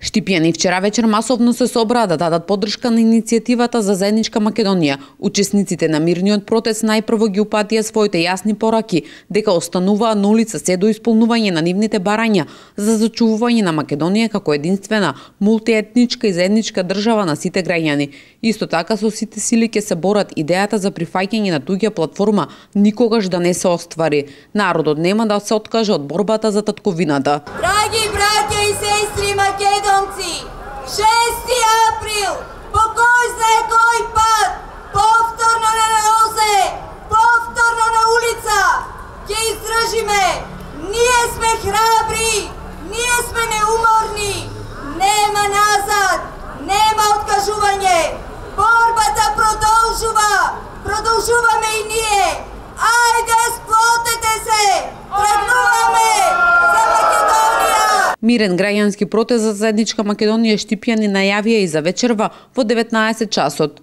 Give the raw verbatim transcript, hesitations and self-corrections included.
Штипјани вчера вечер масовно се собраа да дадат поддршка на иницијативата за заедничка Македонија. Учесниците на мирниот протест најпрво ги упатија своите јасни пораки дека остануваа на улица се до исполнување на нивните барања за зачувување на Македонија како единствена мултиетничка и заедничка држава на сите граѓани. Исто така со сите сили ќе се борат идејата за прифаќање на туѓа платформа никогаш да не се оствари. Народот нема да се откаже од борбата за татковината. Драги браќа и сестри македонци, шести април, по кој знае кој пат, повторно на нозе, повторно на улица, ќе издржиме. Ние сме храбри, ние сме неуморни, нема назад, нема откажување. Борбата продолжува, продолжуваме и ние. Ајде, сплотете се, тргнуваме за Македонија! Мирен граѓански протест за заедничка Македонија штипјани најавија и за вечерва во деветнаесет часот.